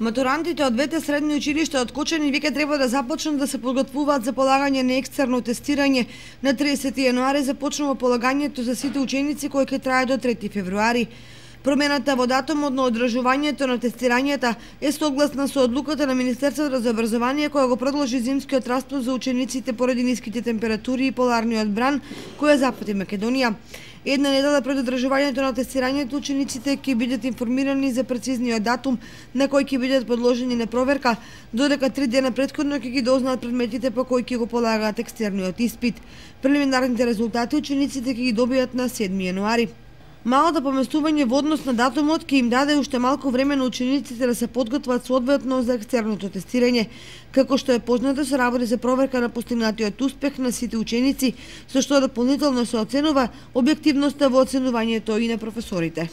Матурантите од двете средни училишта од Кочани веќе треба да започнат да се подготвуваат за полагање на екстерно тестирање. На 30 јануари започнува полагањето за сите ученици кои ќе трае до 3 февруари. Промената во датумот на одржувањето на тестирањата е согласна со одлуката на Министерството за образование која го продолжи зимскиот распуст за учениците поради ниските температури и поларниот бран која запати Македонија. Една недела пред одржувањето на тестирањето, учениците ќе бидат информирани за прецизниот датум на кој ќе бидат подложени на проверка, додека 3 дена претходно ќе ги дознаат предметите по кои ќе го полагаат екстерниот испит. Прелиминарните резултати учениците ќе ги добијат на 7 јануари. Малото поместување во однос на датумот ќе им даде уште малку време на учениците да се подготват соодветно за екстерното тестирање. Како што е познато, се работи за проверка на постигнатиот успех на сите ученици, со што дополнително се оценува објективноста во оценувањето и на професорите.